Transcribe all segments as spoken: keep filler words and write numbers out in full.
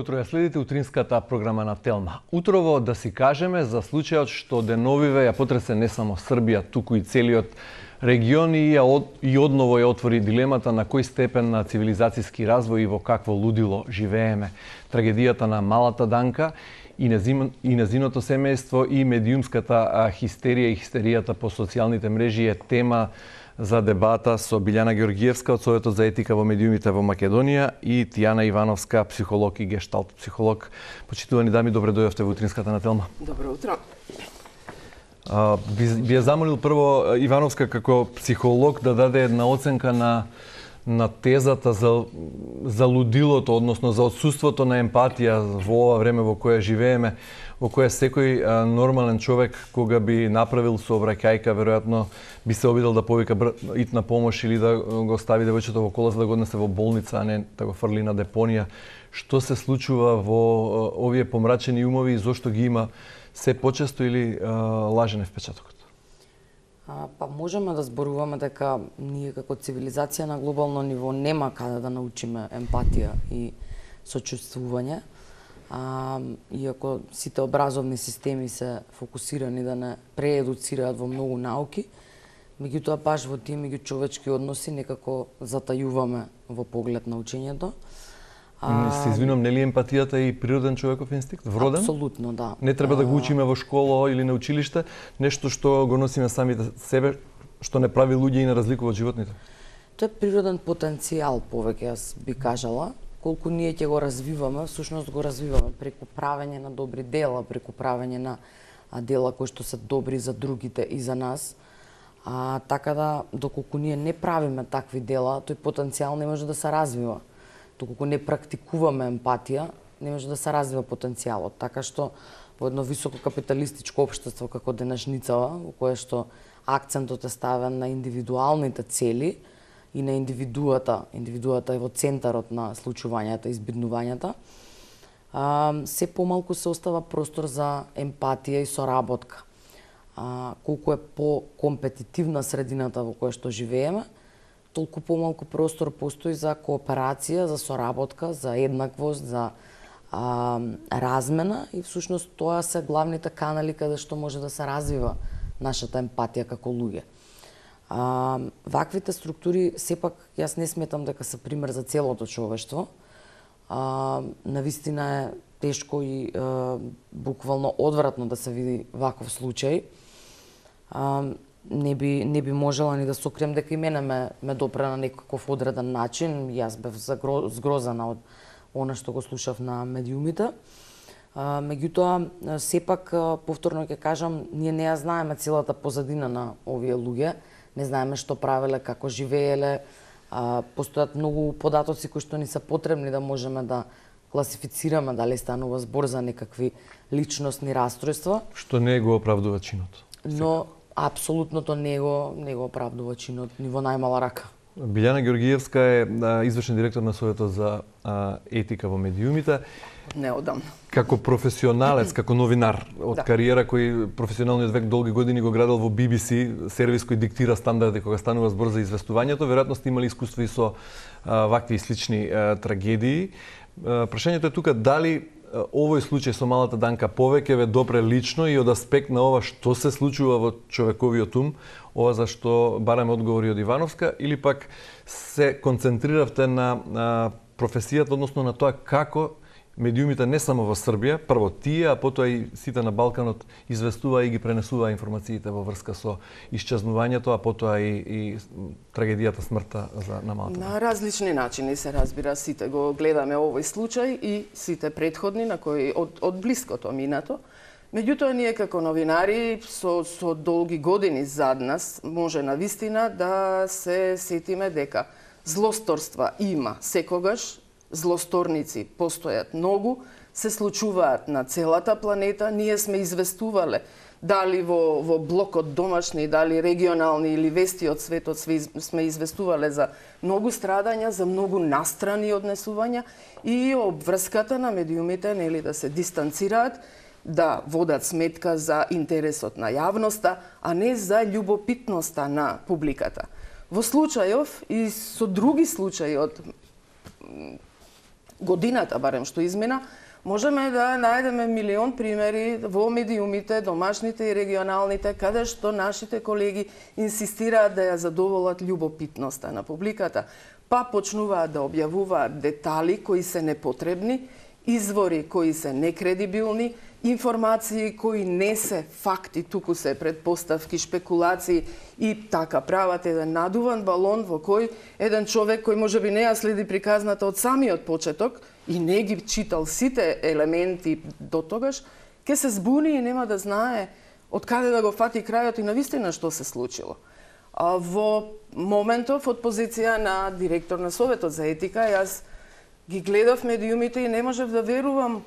Добро утро, ја следите утринската програма на Телма. Утрово да си кажеме за случајот што деновиве ја потресе не само Србија, туку и целиот регион и, од, и одново ја отвори дилемата на кој степен на цивилизацијски развој и во какво лудило живееме. Трагедијата на малата Данка и, незим, и незиното семејство и медиумската хистерија и хистеријата по социјалните мрежи е тема за дебата со Билјана Георгиевска од Советот за етика во медиумите во Македонија и Тијана Ивановска, психолог и гешталт психолог. Почитувани дами, добре дојдовте во утринската на Телма. Добро утро. А, би, би ја замолил прво Ивановска како психолог да даде една оценка на на тезата за за лудилото, односно за отсуството на емпатија во ова време во кое живееме, во кое секој а, нормален човек кога би направил сообраќајка, веројатно би се обидел да повика итна помош или да го стави девојчето во кола за да го однесе во болница, а не да го фрли на депонија. Што се случува во овие помрачени умови и зошто ги има се почесто или а, лажен е впечатокот? А, па можеме да зборуваме дека ние како цивилизација на глобално ниво нема каде да научиме емпатија и сочувствување. А, иако сите образовни системи се фокусирани да не преедуцираат во многу науки, меѓутоа баш во тие меѓучовечки односи некако затајуваме во поглед на учењето. А... Се извинувам, нели емпатијата е и природен човеков инстинкт, вроден? Апсолутно, да. Не треба да го учиме во школа или на училиште, нешто што го носиме самите себе, што не прави луѓе и не разликува од животните? Тоа е природен потенцијал, повеќе јас би кажала. Колку ние ќе го развиваме, всушност го развиваме преку правење на добри дела, преку правење на дела кои што се добри за другите и за нас. А, така да, доколку ние не правиме такви дела, тој потенцијал не може да се развива. Доколку не практикуваме емпатија, не може да се развива потенцијалот. Така што во едно високо капиталистичко општество како денешницава, во кое што акцентот е ставен на индивидуалните цели и на индивидуата, индивидуата е во центарот на случувањата и избиднувањата, а, се помалку се остава простор за емпатија и соработка. А, колку е по-компетитивна средината во која што живееме, толку помалку простор постои за кооперација, за соработка, за еднаквост, за а, размена и всушност тоа се главните канали каде што може да се развива нашата емпатија како луѓе. А, ваквите структури, сепак, јас не сметам дека се пример за целото човештво. А, навистина е тешко и а, буквално одвратно да се види ваков случај. А, не би не би можела ни да се окрем дека и мене ме, ме допре на некаков одреден начин. Јас бев згрозена од она што го слушав на медиумите. А, меѓутоа, сепак, повторно ќе кажам, ние не ја знаеме целата позадина на овие луѓе. Не знаеме што правеле, како живееле. А, постојат многу податоци кои што ни се потребни да можеме да класифицираме дали станува збор за некакви личностни расстройства. Што не го оправдува чинот. Но апсолутното не го не го оправдува чинот ни во најмала рака. Билјана Георгиевска е а, извршен директор на Советот за а, етика во медиумите. Неодамна. Како професионалец, како новинар од да. Кариера кој професионалниот век долги години го градел во Би Би Си, сервис кој диктира стандарди кога станува збор за известувањето, веројатно сте имали искуство и со а, вакви слични а, трагедии. А, прашањето е тука дали овој случај со малата Данка повеќе ве допре лично и од аспект на ова што се случува во човековиот ум, ова за што бараме одговори од Ивановска, или пак се концентриравте на, на професијата, односно на тоа како медиумите не само во Србија, прво тие, а потоа и сите на Балканот известуваа и ги пренесуваа информациите во врска со исчезнувањето, а потоа и, и трагедијата, смртта за на малата. На различни начини се разбира, сите го гледаме овој случај и сите претходни на кои од, од блиското минато. Меѓутоа, ние како новинари со, со долги години зад нас може навистина да се сетиме дека злосторства има секогаш, злосторници постојат многу, се случуваат на целата планета, ние сме известувале дали во, во блокот домашни, дали регионални или вести од светот сме известувале за многу страдања, за многу настрани однесувања и обврската на медиумите нели да се дистанцираат, да водат сметка за интересот на јавноста, а не за љубопитноста на публиката. Во случајов и со други случаи од годината барем што измина, можеме да најдеме милион примери во медиумите, домашните и регионалните, каде што нашите колеги инсистираат да ја задоволат љубопитноста на публиката, па почнуваат да објавуваат детали кои се непотребни, извори кои се некредибилни, информации кои не се факти, туку се предпоставки, шпекулации и така прават еден надуван балон во кој еден човек кој можеби не ја следи приказната од самиот почеток и не ги читал сите елементи до тогаш, ќе се збуни и нема да знае од каде да го фати крајот и навистина што се случило. А во моментов од позиција на директор на Советот за етика, јас ги гледав медиумите и не можев да верувам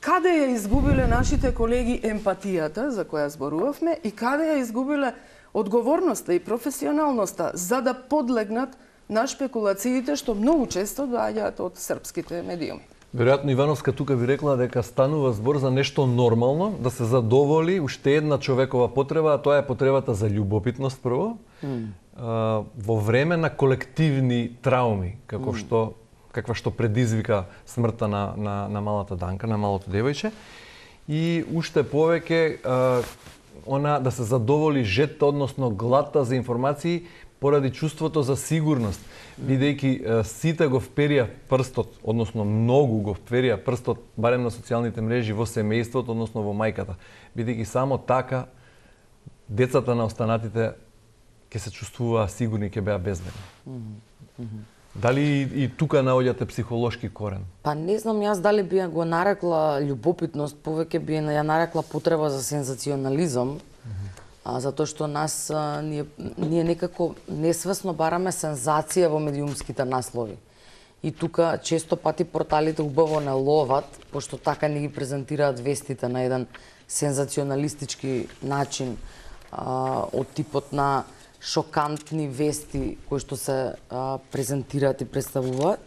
каде ја изгубиле нашите колеги емпатијата, за која зборувавме, и каде ја изгубиле одговорноста и професионалноста за да подлегнат на шпекулациите што многу често доаѓаат од српските медиуми. Веројатно Ивановска тука би рекла дека станува збор за нешто нормално, да се задоволи уште една човекова потреба, а тоа е потребата за љубопитност прво, mm. а, во време на колективни трауми, како mm. што каква што предизвика смртта на, на, на малата Данка, на малото девојче, и уште повеќе а, она да се задоволи жетта, односно гладта за информации поради чувството за сигурност, бидејќи сите го вперија прстот, односно многу го вперија прстот, барем на социјалните мрежи, во семејството, односно во мајката, бидејќи само така децата на останатите ќе се чувствуваа сигурни, ќе беа безбедни. Mm -hmm. Дали и, и тука наоѓате психолошки корен? Па не знам јас дали би ја го нарекла љубопитност, повеќе би ја нарекла потреба за сензационализам, mm -hmm. а, затоа што нас а, ние, ние некако несвесно бараме сензација во медиумските наслови. И тука често пати порталите убаво не ловат, пошто така ни ги презентираат вестите на еден сензационалистички начин, а, од типот на шокантни вести кои што се а, презентираат и представуваат.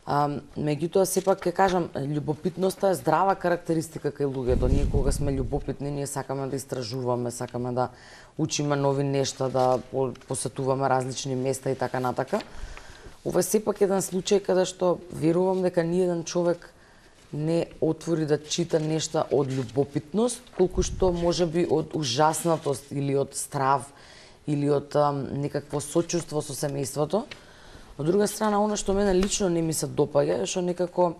А, меѓутоа, сепак ќе кажам, љубопитноста е здрава карактеристика кај луѓето. Ние кога сме љубопитни, ние сакаме да истражуваме, сакаме да учиме нови нешта, да посетуваме различни места и така натака. Ова е сепак еден случај каде што верувам дека ни еден човек не отвори да чита нешта од љубопитност, колку што можеби од ужаснатост или од страв или од а, некакво сочувство со семејството. Од друга страна, она што мене лично не ми се допаѓа е што некако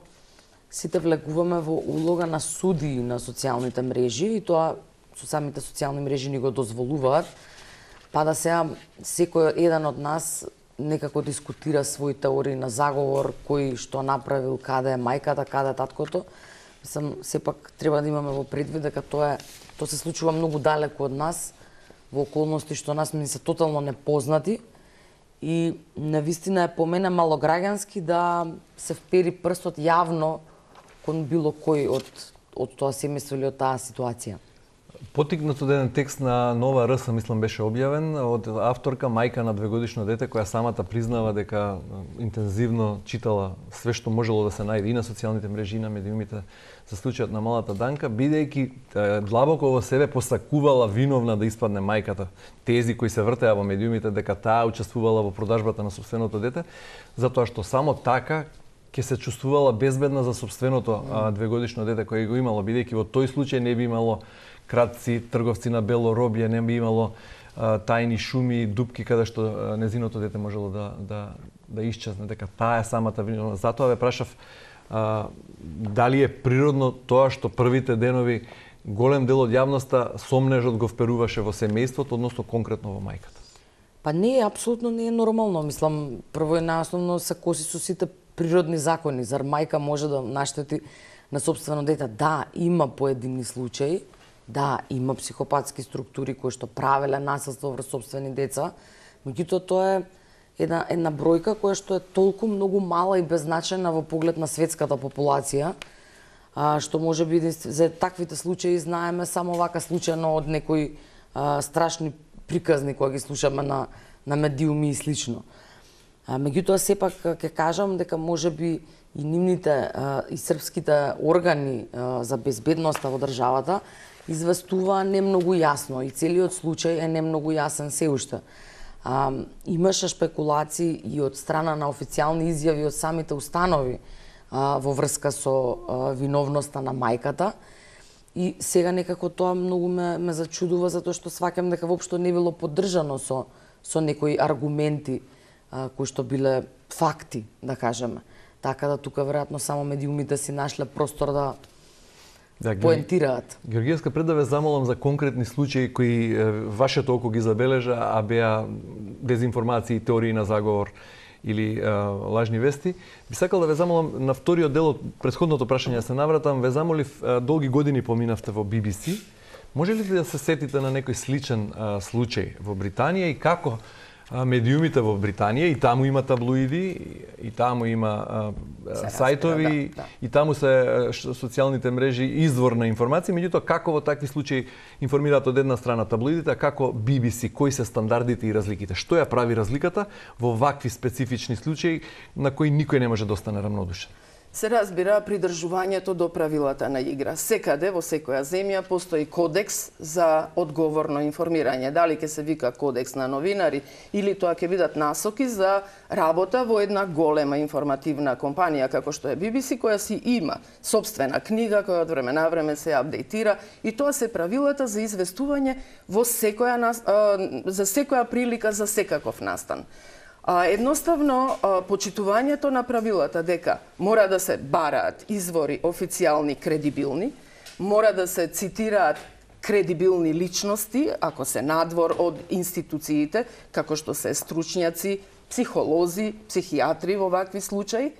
сите влегуваме во улога на суди на социјалните мрежи и тоа со самите социјални мрежи ни го дозволуваат, па да сега секој еден од нас некако дискутира своји теории на заговор, кој што направил, каде е мајката, каде е таткото. Мислам, сепак треба да имаме во предвид дека тоа е, тоа се случува многу далеку од нас, во околности што нас ми се тотално непознати и навистина е по мене малограѓански да се впери прстот јавно кон било кој од, од тоа семејство или од таа ситуација. Потикнат од еден текст на Нова РС, мислам, беше објавен од авторка, мајка на двегодишно дете, која самата признава дека интензивно читала све што можело да се најде и на социјалните мрежи, и на медиумите за случајот на малата Данка, бидејќи длабоко во себе посакувала виновна да испадне мајката. Тези кои се вртеа во медиумите дека таа учествувала во продажбата на собственото дете, затоа што само така ќе се чувствувала безбедна за собственото а, двегодишно дете кое го имало, бидејќи во тој случај не би имало кратци, трговци на бело робје, не би имало а, тајни шуми, дупки каде што а, незиното дете можело да да да исчезне, дека таа е самата виновна. Затоа ве прашав а, дали е природно тоа што првите денови голем дел од јавноста сомнежот го вперуваше во семејството, односно конкретно во мајката. Па не, апсолутно не е нормално. Мислам, прво и најосновно се коси со сите природни закони. Зар мајка може да наштети на собствено дете? Да, има поедини случаи, да, има психопатски структури кои што правеле насилство врз собствени деца, меѓутоа тоа е една, една бројка која што е толку многу мала и беззначајна во поглед на светската популација, а, што може би за таквите случаи знаеме само вака случајно од некои а, страшни приказни кои ги слушаме на, на медиуми и слично. А, меѓутоа, сепак ќе кажам дека може би и нивните а, и српските органи а, за безбедноста во државата известува не многу јасно и целиот случај е не многу јасен се уште. А, имаше шпекулации и од страна на официјални изјави од самите установи а, во врска со а, виновноста на мајката. И сега некако тоа многу ме, ме зачудува, затоа што сваќам дека воопшто не било поддржано со, со некои аргументи а, кои што биле факти, да кажеме. Така да тука веројатно само медиумите си нашле простор да Да, поентираат. Георгиевска, пред да ве замолам за конкретни случаи кои вашето око ги забележа, а беа дезинформации, теории на заговор или а, лажни вести, би сакал да ве замолам на вториот дел од претходното прашање се навратам, ве замолив а, долги години поминавте во Би Би Си. Може ли да се сетите на некој сличен а, случај во Британија и како а, медиумите во Британија, и таму има таблоиди, и таму има а, сајтови, да, да. И таму се социјалните мрежи извор на информации, меѓутоа како во такви случаи информираат од една страна таблоидите, а како Би Би Си, кои се стандардите и разликите? Што ја прави разликата во вакви специфични случаи на кои никој не може да остане рамнодушен? Се разбира придржувањето до правилата на игра. Секаде во секоја земја постои кодекс за одговорно информирање. Дали ќе се вика кодекс на новинари или тоа ќе бидат насоки за работа во една голема информативна компанија како што е Би Би Си, која си има сопствена книга која од време на време се апдейтира, и тоа се правилата за известување во секоја за секоја прилика за секаков настан. А, едноставно, а, почитувањето на правилата дека мора да се бараат извори официјални, кредибилни, мора да се цитираат кредибилни личности, ако се надвор од институциите, како што се стручњаци, психолози, психијатри во вакви случаи,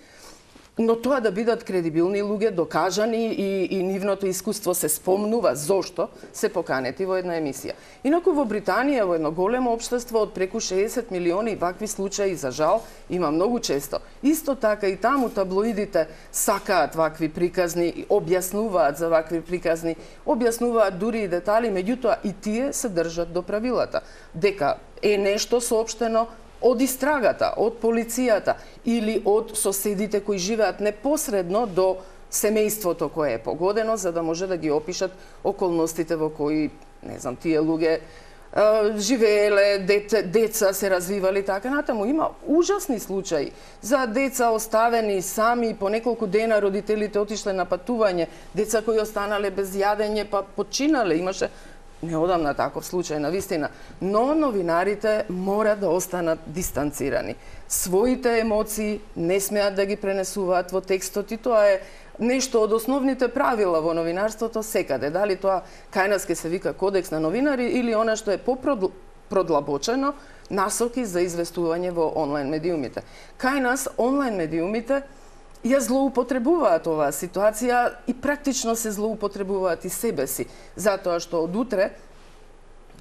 но тоа да бидат кредибилни луѓе, докажани и, и нивното искуство се спомнува зошто се поканети во една емисија. Инаку во Британија, во едно големо општество од преку шеесет милиони, вакви случаи, за жал, има многу често. Исто така и таму таблоидите сакаат вакви приказни, објаснуваат за вакви приказни, објаснуваат дури и детали, меѓутоа и тие се држат до правилата. Дека е нешто соопштено од истрагата, од полицијата или од соседите кои живеат непосредно до семејството кое е погодено, за да може да ги опишат околностите во кои, не знам, тие луѓе е, живееле, деца, деца се развивали, така натаму. Има ужасни случаи за деца оставени сами, по неколку дена родителите отишле на патување, деца кои останале без јадење, па починале, имаше неодамна таков случај, на вистина. Но новинарите мора да останат дистанцирани. Своите емоции не смеат да ги пренесуваат во текстот, и тоа е нешто од основните правила во новинарството секаде. Дали тоа кај нас ке се вика кодекс на новинари или она што е попродлабочено, насоки за известување во онлайн медиумите. Кај нас онлайн медиумите ја злоупотребуваат оваа ситуација и практично се злоупотребуваат и себе си, затоа што од утре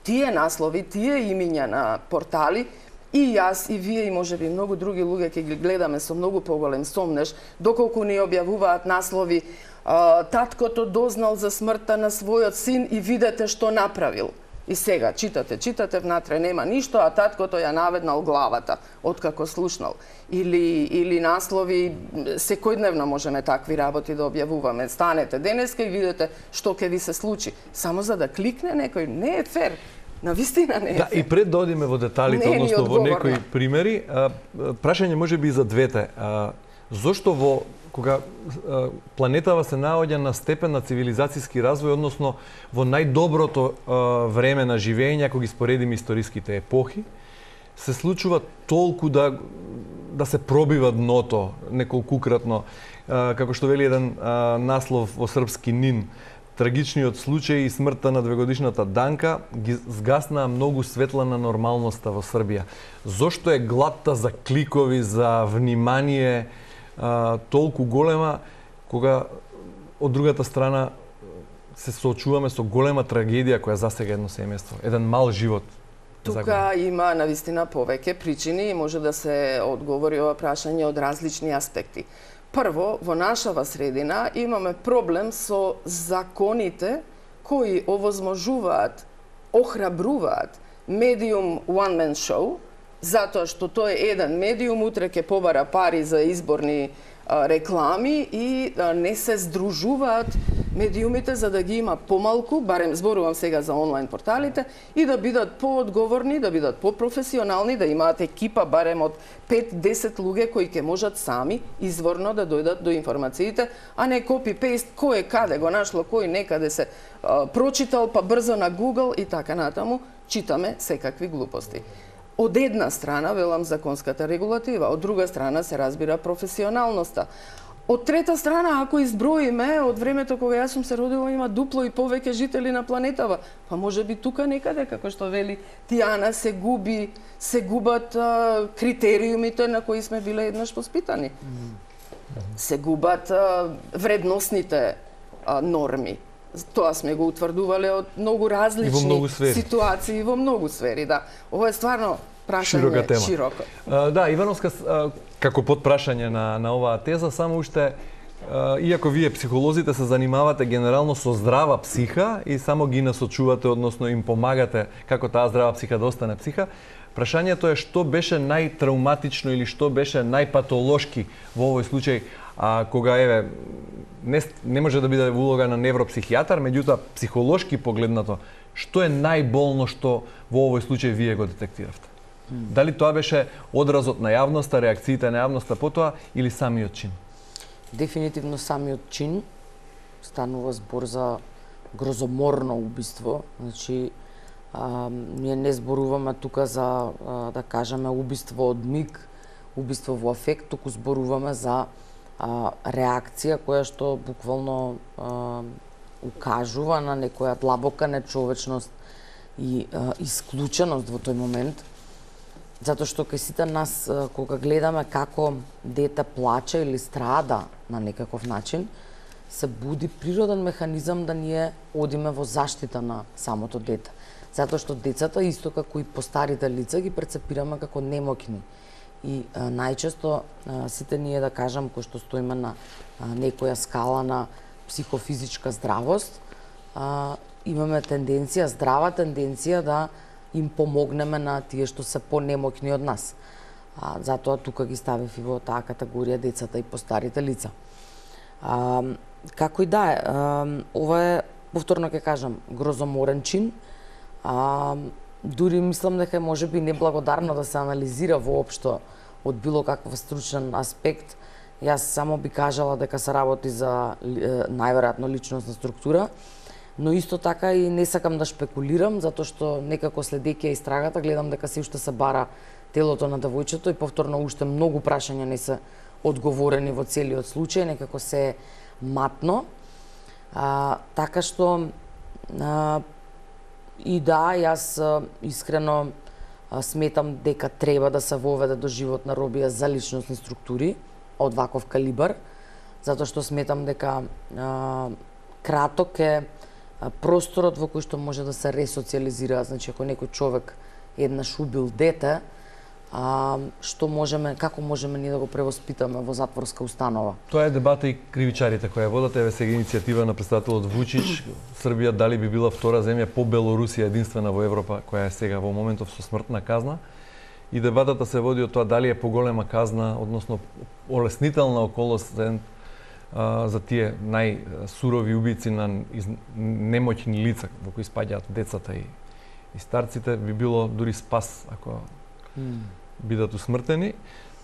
тие наслови, тие имиња на портали, и јас, и вие, и можеби многу други луѓе ќе ги гледаме со многу поголем сомнеш, доколку ни објавуваат наслови таткото дознал за смртта на својот син и видете што направил. И сега читате, читате, внатре нема ништо, а таткото ја наведнал главата откако слушнал. Или или наслови, секојдневно можеме такви работи да објавуваме. Станете денеска и видите што ќе ви се случи. Само за да кликне некој, не е фер. На вистина не е. Да, фер. и пред да одиме во деталите, односно во некои примери, а, прашање можеби и за двете. А, зошто во кога а, планетава се наоѓа на степен на цивилизацијски развој, односно во најдоброто а, време на живење, ако ги споредиме историските епохи, се случува толку да да се пробива дното неколкукратно, а, како што вели еден а, наслов во српски НИН, трагичниот случај и смртта на двегодишната Данка ги згаснаа многу светла на нормалноста во Србија. Зошто е гладта за кликови, за внимание а, толку голема, кога од другата страна се соочуваме со голема трагедија која засега едно семејство, еден мал живот? Тука има навистина повеќе причини и може да се одговори ова прашање од различни аспекти. Прво, во нашава средина имаме проблем со законите кои овозможуваат, охрабруваат медиум one man show, затоа што тој е еден медиум, утре ќе побара пари за изборни а, реклами и а, не се здружуваат медиумите за да ги има помалку, барем зборувам сега за онлайн порталите, и да бидат поодговорни, да бидат попрофесионални, да имаат екипа барем од пет-десет луѓе кои ќе можат сами изворно да дојдат до информациите, а не копи-пейст, кој е каде го нашло, кој некаде се а, прочитал, па брзо на Google и така натаму, читаме секакви глупости. Од една страна, велам, законската регулатива, од друга страна се разбира професионалноста. Од трета страна, ако изброиме, од времето кога јас сум се родила, има дупло и повеќе жители на планетава. Па може би тука некаде, како што вели Тијана, се губи, се губат а, критериумите на кои сме биле еднаш воспитани. Се губат а, вредносните а, норми. Тоа сме го утврдувале од многу различни многу ситуации во многу сфери, да. Ова е стварно прашање широка тема. Широко. Uh, да, Ивановска, uh, како подпрашање на, на оваа теза, само уште, uh, иако вие психолозите се занимавате генерално со здрава психа и само ги насочувате, односно им помагате како таа здрава психа да остане психа, прашањето е што беше најтрауматично или што беше најпатолошки во овој случај, а кога еве не, не може да биде улога на невропсихијатар, меѓутоа психолошки погледнато, што е најболно што во овој случај вие го детектиравте? Дали тоа беше одразот на јавноста, реакциите на јавноста потоа или самиот чин? Дефинитивно самиот чин. Станува збор за грозоморно убиство. Значи, а, ние не зборуваме тука за, а, да кажеме, убиство од миг, убиство во афект, туку зборуваме за а, реакција која што буквално а, укажува на некоја длабока нечовечност и а, исклученост во тој момент. Затоа што кај сите нас, кога гледаме како дете плаче или страда на некаков начин, се буди природен механизам да ние одиме во заштита на самото дете. Затоа што децата, исто како и постарите лица, ги прецепираме како немоќни. И а, најчесто а, сите ние, да кажам, кои што стоиме на а, некоја скала на психофизичка здравост, а, имаме тенденција, здрава тенденција да им помогнеме на тие што се понемоќни од нас. А, затоа тука ги ставив и во таа категорија децата и постарите лица. А, како и да е, а, ова е, повторно ќе кажам, грозоморен чин. А, дури мислам дека може би неблагодарно да се анализира воопшто од било каков стручен аспект. Јас само би кажала дека се работи за најверојатно личностна структура, но исто така и не сакам да шпекулирам, затоа што некако следејќи истрагата гледам дека се уште се бара телото на девојчето и повторно уште многу прашања не се одговорени во целиот случај, некако се матно. А, така што а, и да, јас а, искрено а, сметам дека треба да се воведе до животна робија за личностни структури од ваков калибар, затоа што сметам дека а, краток е просторот во кој што може да се ресоциализира. Значи, ако некој човек еднаш убил дете, а, што можеме, како можеме ние да го превоспитаме во затворска установа? Тоа е дебата и кривичарите која водат. Еве сега иницијатива на претседателот Вучич, Србија дали би била втора земја по Белорусија, единствена во Европа која е сега во моментов со смртна казна. И дебатата се води од тоа дали е поголема казна, односно олеснителна околност за тие најсурови убици на немоќни лица во кои спаѓаат децата и, и старците, би било дури спас ако mm. бидат усмртени.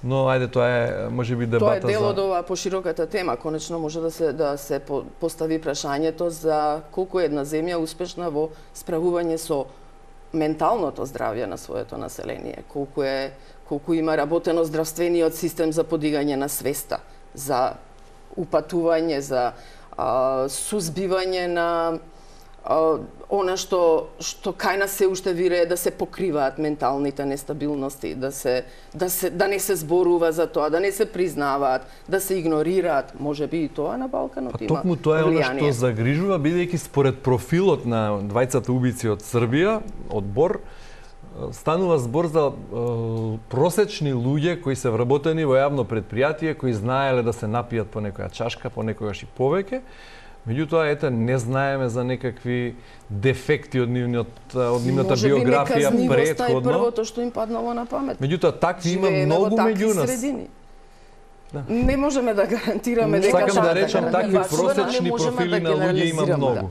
Но ајде, тоа е можеби дебата за... Тоа е дел од оваа пошироката тема. Конечно може да се да се постави прашањето за колку е една земја успешна во справување со менталното здравје на своето население, колку е колку има работено здравствениот систем за подигање на свеста, за упатување, за а, сузбивање на а, она што што кај нас се уште вирее да се покриваат менталните нестабилности, да се да се да не се зборува за тоа, да не се признаваат, да се игнорираат, можеби и тоа на Балканот па, има. Токму тоа е она што загрижува, бидејќи според профилот на двајцата убици од Србија, од Бор, станува збор за е, просечни луѓе кои се вработени во јавно предпријатие, кои знаеле да се напијат по некоја чашка, понекогаш и повеќе. Меѓутоа, ете, не знаеме за некакви дефекти од нивниот од нивната биографија претходно. Може би првото што им паднало на памет. Меѓутоа, такви има многу меѓу нас. Средини. Не можеме да гарантираме дека сакам да речам такви башува, просечни профили на луѓе има многу.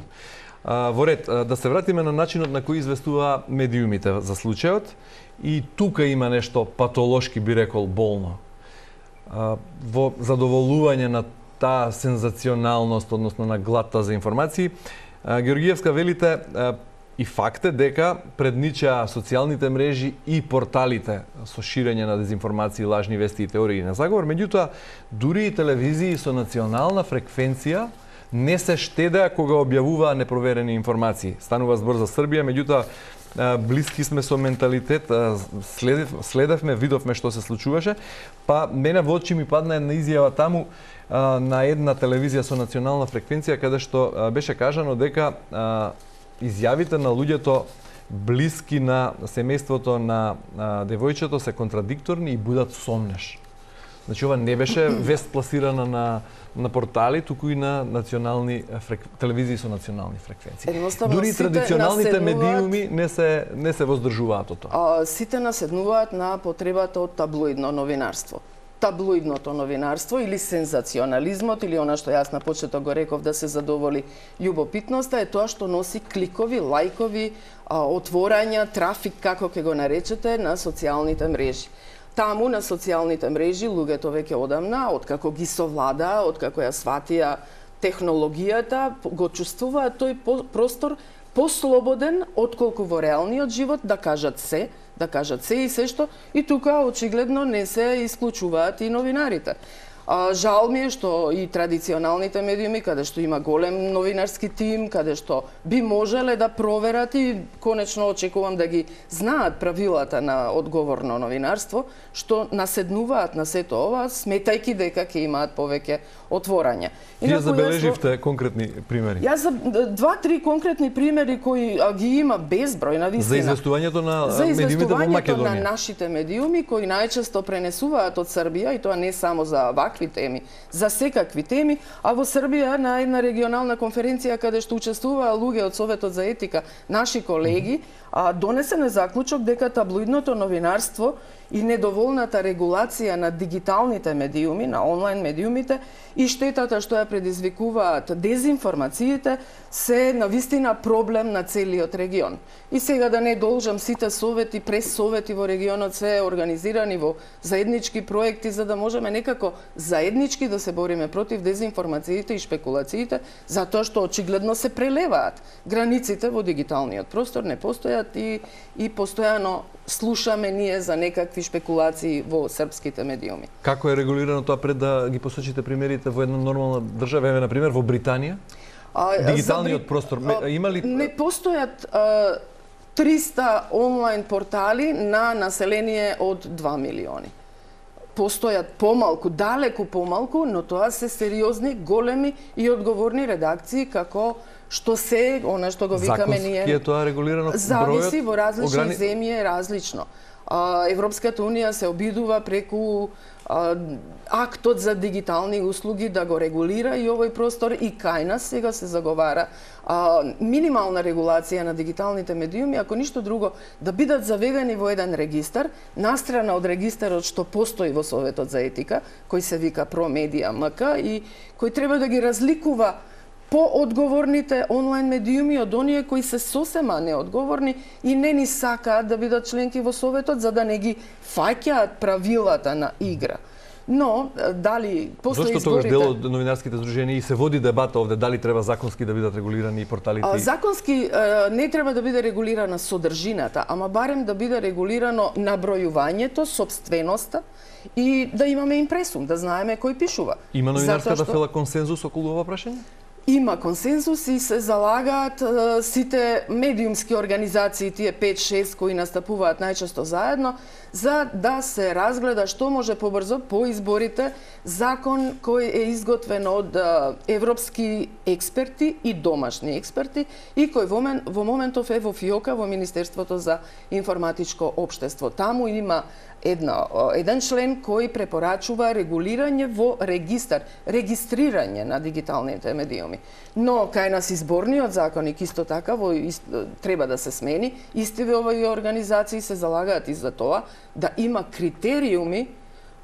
А, во ред, да се вратиме на начинот на кој известува медиумите за случајот, и тука има нешто патолошки, би рекол, болно. А, во задоволување на таа сензационалност, односно на глата за информации, а, Георгиевска велите, а, и факт е дека предничаа социјалните мрежи и порталите со ширење на дезинформации, лажни вести и теории на заговор. Меѓутоа, дури и телевизии со национална фреквенција не се штедеа кога објавуваа непроверени информации. Станува збор за Србија, меѓутоа блиски сме со менталитет, следев, следевме, видовме што се случуваше, па мене во очи ми падна една изјава таму на една телевизија со национална фреквенција, каде што беше кажано дека изјавите на луѓето блиски на семејството на девојчето се контрадикторни и будат сомнеш. Значи, ова не беше вест пласирана на, на портали, туку и на национални фрек... телевизии со национални фреквенции. Дури и традиционалните наседнуваат... медиуми не се, не се воздржуваат од тоа. А, сите наседнуваат на потребата од таблоидно новинарство. Таблоидното новинарство или сензационализмот, или она што јас на почеток го реков да се задоволи љубопитноста, е тоа што носи кликови, лајкови, а, отворања, трафик, како ќе го наречете, на социјалните мрежи. Таму на социјалните мрежи луѓето веќе одамна, откако ги совладаа, откако ја сватија технологијата, го чувствуваат тој простор послободен отколку во реалниот живот да кажат се, да кажат се и се што, и тука очигледно не се исклучуваат и новинарите. А, жал ми е што и традиционалните медиуми, каде што има голем новинарски тим, каде што би можеле да проверат и конечно очекувам да ги знаат правилата на одговорно новинарство, што наседнуваат на сето ова, сметајки дека ќе имаат повеќе отворања. Вие забележивте конкретни примери? Јас за два-три конкретни примери кои а, ги има безброј на вистина. За известувањето на за медиумите во Македонија. За известувањето на нашите медиуми кои најчесто пренесуваат од Србија, и тоа не само за вакви теми, за секакви теми, а во Србија на една регионална конференција каде што учествуваа луѓе од Советот за етика, наши колеги, а, донесен е заклучок дека таблоидното новинарство и недоволната регулација на дигиталните медиуми, на онлайн медиумите и штетата што ја предизвикуваат дезинформациите се навистина проблем на целиот регион. И сега да не должам, сите совети, прес-совети во регионот се организирани во заеднички проекти за да можеме некако заеднички да се бориме против дезинформациите и шпекулациите, затоа што очигледно се прелеваат. Границите во дигиталниот простор не постојат и, и постојано слушаме ние за некакви шпекулации во српските медиуми. Како е регулирано тоа, пред да ги посочите примерите во една нормална држава, еве на пример во Британија? А, Дигиталниот Бри... простор а, има ли? Не постојат а, триста онлайн портали на население од два милиони. Постојат помалку, далеку помалку, но тоа се сериозни, големи и одговорни редакции како што се, она што го викаме ние... Законски е тоа регулирано? Зависи, во различни ограни... земји е различно. А, Европската Унија се обидува преку а, актот за дигитални услуги да го регулира и овој простор, и кај нас сега се заговара а, минимална регулација на дигиталните медиуми, ако ништо друго, да бидат заведени во еден регистар, настрана од регистарот што постои во Советот за етика, кој се вика Промедија МК и кој треба да ги разликува по-одговорните онлайн медиуми од оние кои се сосема неодговорни и не ни сакаат да бидат членки во Советот за да не ги фаќаат правилата на игра. Но, дали после Зошто изборите... тогаш дел од новинарските здруженија и се води дебата овде, дали треба законски да бидат регулирани и порталите? А, законски а, не треба да биде регулирана содржината, ама барем да биде регулирано набројувањето, собственоста и да имаме импресум, да знаеме кој пишува. Има новинарската фела консензус околу ова прашање? Има консензус и се залагаат е, сите медиумски организации, тие пет-шест кои настапуваат најчесто заедно, за да се разгледа што може побрзо по изборите закон кој е изготвен од е, европски експерти и домашни експерти и кој во, мен, во моментов е во ФИОКа, во Министерството за информатичко општество. Таму има една, еден член кој препорачува регулирање во регистар, регистрирање на дигиталните медиуми. Но кај нас изборниот законник исто така во, ист, треба да се смени. Истиве овој организации се залагаат и за тоа да има критериуми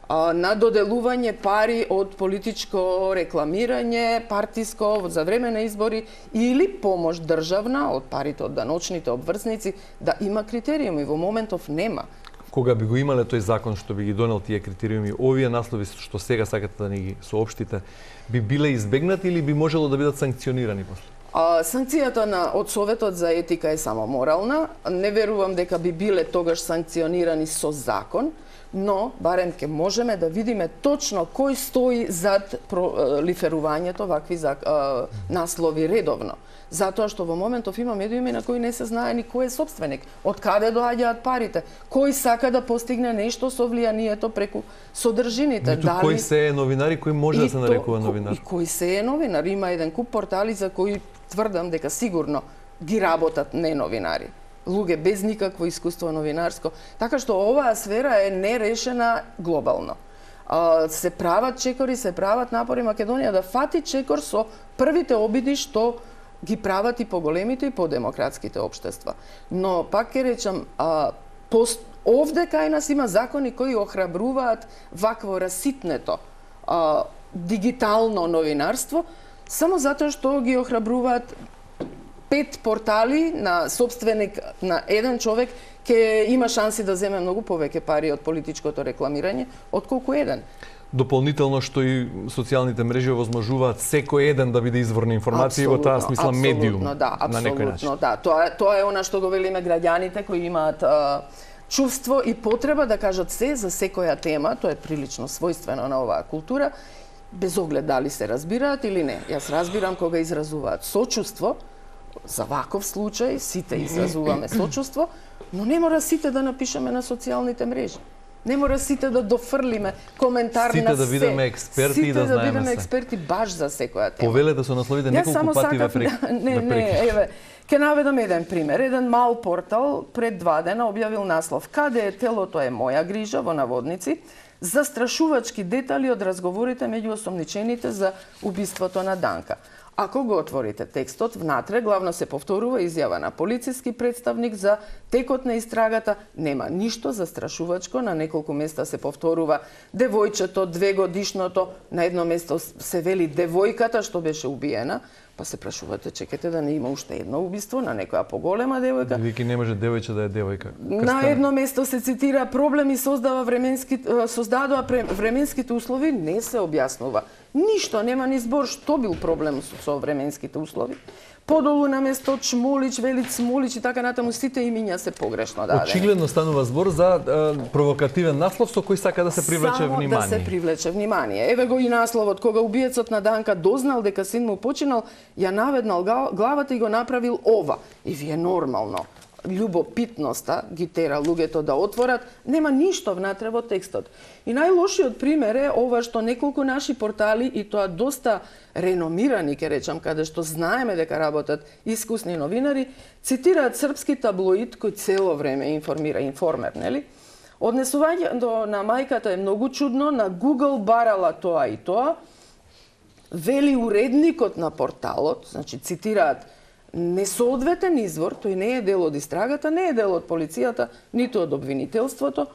на доделување пари од политичко рекламирање, партиско за време на избори или помош државна од парите од даночните обврзници, да има критериуми. Во моментов нема. Кога би го имале тој закон што би ги донел тие критериуми, овие наслови што сега сакате да ни ги соопштите, би биле избегнати или би можело да бидат санкционирани после? А, санкцијата на од Советот за етика е само морална. Не верувам дека би биле тогаш санкционирани со закон, но барем ке можеме да видиме точно кој стои зад пролиферувањето вакви а, наслови редовно. Затоа што во моментов има медиуми на кои не се знае ни кој е собственик, од каде доаѓаат парите, кој сака да постигне нешто со влијанието преку содржините. Ниту Дали... кој се е новинар и кој може и да се нарекува новинар. И кој се е новинар. Има еден куп портали за кои тврдам дека сигурно ги работат не новинари. Луѓе без никакво искуство новинарско. Така што оваа сфера е нерешена глобално. А, се прават чекори, се прават напори Македонија да фати чекор со првите обиди што ги прават и поголемите и подемократските општества. Но, пак ќе речам, а, пост... овде кај нас има закони кои охрабруваат вакво раситнето а, дигитално новинарство, само затоа што ги охрабруваат пет портали на собственик на еден човек ќе има шанси да земе многу повеќе пари од политичкото рекламирање, отколку еден. Дополнително што и социјалните мрежи овозможуваат секој еден да биде извор на информација, во таа смисла медиум да, на некој начин. Да, тоа, тоа е она што го велиме граѓаните кои имаат а, чувство и потреба да кажат се за секоја тема, тоа е прилично својствено на оваа култура, без оглед дали се разбираат или не. Јас разбирам кога изразуваат сочувство, за ваков случај сите изразуваме сочувство, но не мора сите да напишеме на социјалните мрежи. Не мора сите да дофрлиме коментар сите на да се. бидеме експерти сите и да, да знаеме бидеме се. експерти баш за секоја тема. Повелете со насловите неколку пати ве прек. Не, не, еве, ќе наведам еден пример. Еден мал портал пред два дена објавил наслов "Каде е телото е моја грижа" во наводници, застрашувачки детали од разговорите меѓу осомничените за убиството на Данка. Ако го отворите текстот, внатре главно се повторува изјава на полициски представник за текот на истрагата. Нема ништо застрашувачко, на неколку места се повторува девојчето, двегодишното, на едно место се вели девојката што беше убиена, па се прашувате, чекате да не има уште едно убиство на некоја поголема девојка. Вики не може девојче да е девојка. На едно место се цитира проблеми создава временски создадоа временските услови, не се објаснува. Ништо, нема ни збор што бил проблем со временските услови. Подолу на место Чмулич, вели Цмулич и така натаму, сите имиња се погрешно дадени. Очигледно станува збор за а, провокативен наслов со кој сака да се привлече Само внимание. да се привлече внимание. Еве го и насловот, кога убиецот на Данка дознал дека син му починал, ја наведнал главата и го направил ова. И вие нормално. Љубопитноста ги тера луѓето да отворат, нема ништо внатре во текстот. И најлошиот пример е ова што неколку наши портали, и тоа доста реномирани, ке речам, каде што знаеме дека работат искусни новинари, цитираат српски таблоид кој цело време информира, информер, нели? Однесувањето на мајката е многу чудно, на Google барала тоа и тоа, вели уредникот на порталот, значи цитираат несоодветен извор, тој не е дел од истрагата, не е дел од полицијата, ниту од обвинителството.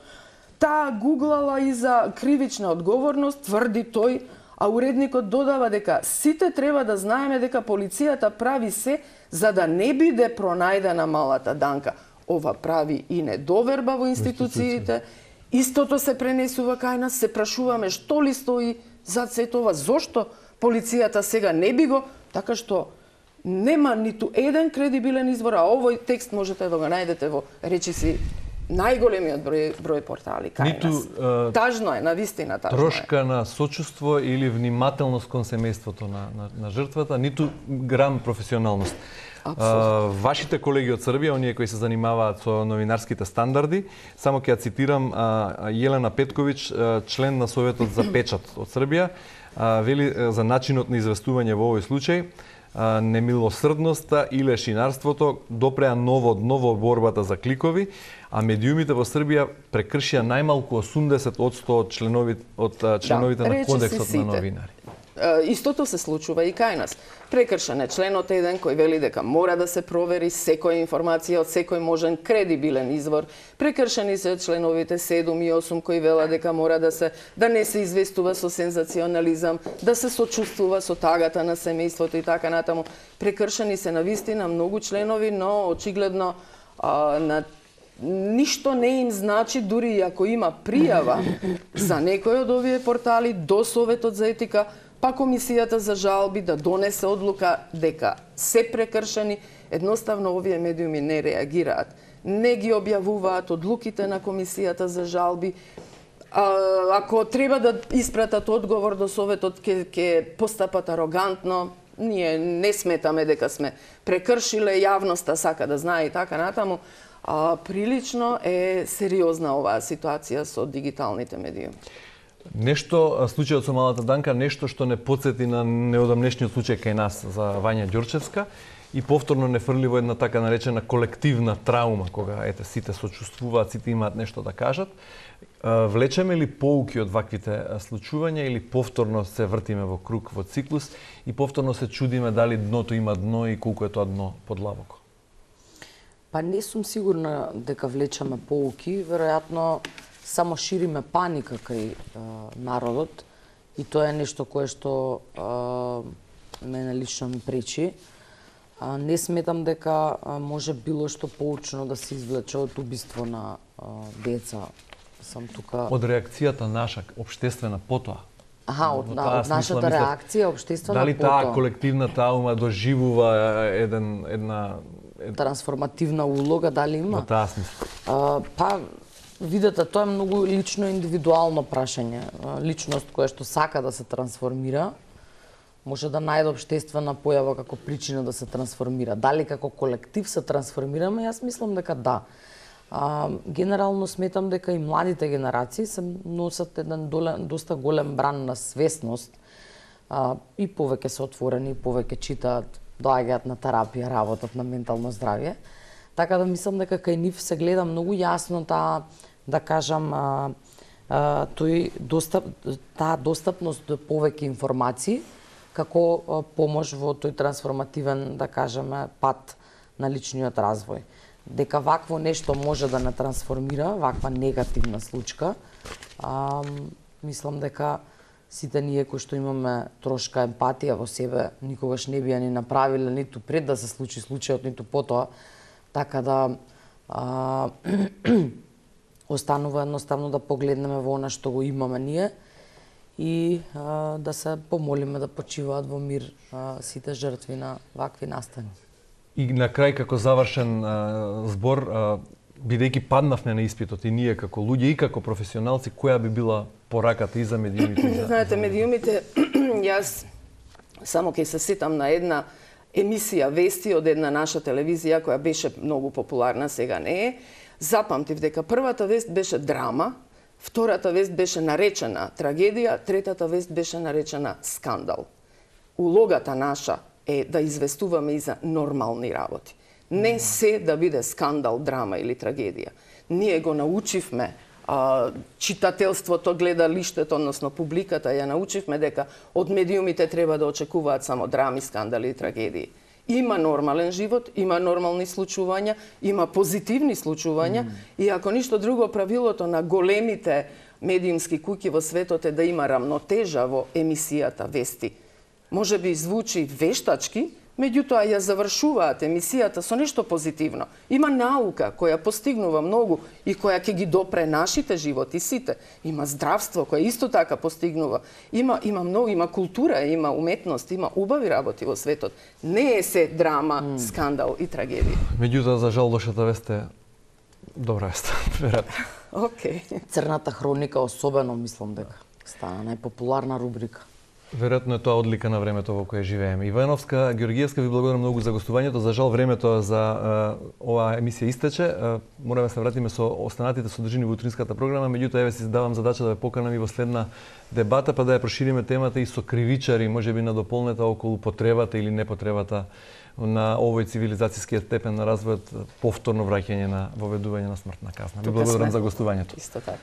Таа гуглала и за кривична одговорност, тврди тој, а уредникот додава дека сите треба да знаеме дека полицијата прави се за да не биде пронајдена малата Данка. Ова прави и недоверба во институциите. Истото се пренесува кај нас, се прашуваме што ли стои зад сето ова, зошто полицијата сега не би го, така што нема ниту еден кредибилен извор, а овој текст можете да го најдете во речиси најголемиот број, број портали кај Ниту, нас. Uh, тажно е, навистина тажно трошка е. на сочувство или внимателност кон семејството на, на, на жртвата, ниту грам професионалност. Uh, вашите колеги од Србија, оние кои се занимаваат со новинарските стандарди, само ќе ја цитирам uh, Јелена Петковиќ, uh, член на Советот за печат од Србија, uh, вели uh, за начинот на известување во овој случај. Немилосрдноста и лешинарството допреа ново дно во борбата за кликови, а медиумите во Србија прекршија најмалку осумдесет одсто од членовите, од членовите да, на кодексот на новинари. Истото се случува и кај нас. Прекршен е членот еден кој вели дека мора да се провери секоја информација од секој можен кредибилен извор. Прекршени се членовите седум и осум кои велат дека мора да се да не се известува со сензационализам, да се сочувствува со тагата на семејството и така натаму. Прекршени се навистина многу членови, но очигледно а, на ништо не им значи, дури и ако има пријава за некој од овие портали до Советот за етика, па Комисијата за жалби да донесе одлука дека се прекршени, едноставно овие медиуми не реагираат. Не ги објавуваат одлуките на Комисијата за жалби. А, ако треба да испратат одговор до Советот, ќе ќе постапат арогантно. Ние не сметаме дека сме прекршиле, јавноста сака да знае и така натаму. А, прилично е сериозна оваа ситуација со дигиталните медиуми. Нешто, случајот со малата Данка, нешто што не потсети на неодамнешниот случај кај нас за Вања Ѓорчевска и повторно не фрли во една така наречена колективна траума, кога ете сите сочувствуваат, сите имаат нешто да кажат. Влечеме ли поуки од ваквите случувања или повторно се вртиме во круг, во циклус и повторно се чудиме дали дното има дно и колку е тоа дно подлабоко? Па не сум сигурна дека влечеме поуки, веројатно само шириме паника кај а, народот и тоа е нешто кое што а, мене лично ми пречи. А, не сметам дека а, може било што поучно да се извлече од убиство на а, деца. Сам тука Од реакцијата наша, обштествена потоа. Аха, од, на, од нашата реакција, обштествена дали потоа. Дали таа колективна траума доживува еден, една... Ед... трансформативна улога, дали има? Во таа смисла. А, па, видете, тоа е многу лично индивидуално прашање. Личност која што сака да се трансформира, може да најде обштествена појава како причина да се трансформира. Дали како колектив се трансформираме, јас мислам дека да. А, генерално сметам дека и младите генерации се носат еден долен, доста голем бран на свесност а, и повеќе се отворени, повеќе читаат, доаѓаат на терапија, работат на ментално здравје. Така да мислам дека кај нив се гледа многу јасно таа, да кажам, а, а, тој достап, таа достапност до повеќе информации како а, помош во тој трансформативен, да кажеме, пат на личниот развој. Дека вакво нешто може да не трансформира, ваква негативна случка, а, мислам дека сите ние кои што имаме трошка емпатија во себе, никогаш не би ја ни направиле ниту пред да се случи случајот, ниту потоа. Така да а, останува едноставно да погледнеме во она што го имаме ние и а, да се помолиме да почиваат во мир а, сите жртви на вакви настани. И на крај како завршен а, збор, а, бидејќи паднавме на испитот и ние како луѓе и како професионалци, која би била пораката и за медиумите? И за... Знаете, медиумите, јас само ќе се сетам на една емисија вести од една наша телевизија која беше многу популарна, сега не е. Запамтив дека првата вест беше драма, втората вест беше наречена трагедија, третата вест беше наречена скандал. Улогата наша е да известуваме и за нормални работи. Не се да биде скандал, драма или трагедија. Ние го научивме, а, читателството, гледалиштето, односно публиката, ја научивме дека од медиумите треба да очекуваат само драми, скандали и трагедии. Има нормален живот, има нормални случувања, има позитивни случувања mm. и ако ништо друго, правилото на големите медиумски куќи во светот е да има рамнотежа во емисијата вести. Може би звучи вештачки, меѓутоа ја завршуваат емисијата со нешто позитивно. Има наука која постигнува многу и која ќе ги допре нашите животи сите. Има здравство која исто така постигнува. Има има многу, има култура, има уметност, има убави работи во светот. Не е се драма, mm. скандал и трагедија. Меѓутоа, за жал, лошата вест е добра вест, веројатно. Окей. Црната хроника особено мислам дека стана најпопуларна рубрика. Веројатно е тоа одлика на времето во кое живееме. Ивановска Ѓоргиевска, ви благодарам многу за гостувањето. За жал, времето за uh, оваа емисија истече. Uh, мораме да се вратиме со останатите содржини во утринската програма, меѓутоа еве си давам задача да ве поканам и во следна дебата, па да ја прошириме темата и со кривичари, можеби на дополнета околу потребата или непотребата на овој цивилизацијски степен на развојот, повторно враќање на воведување на смртна казна. Ви благодарам за гостувањето. Исто така.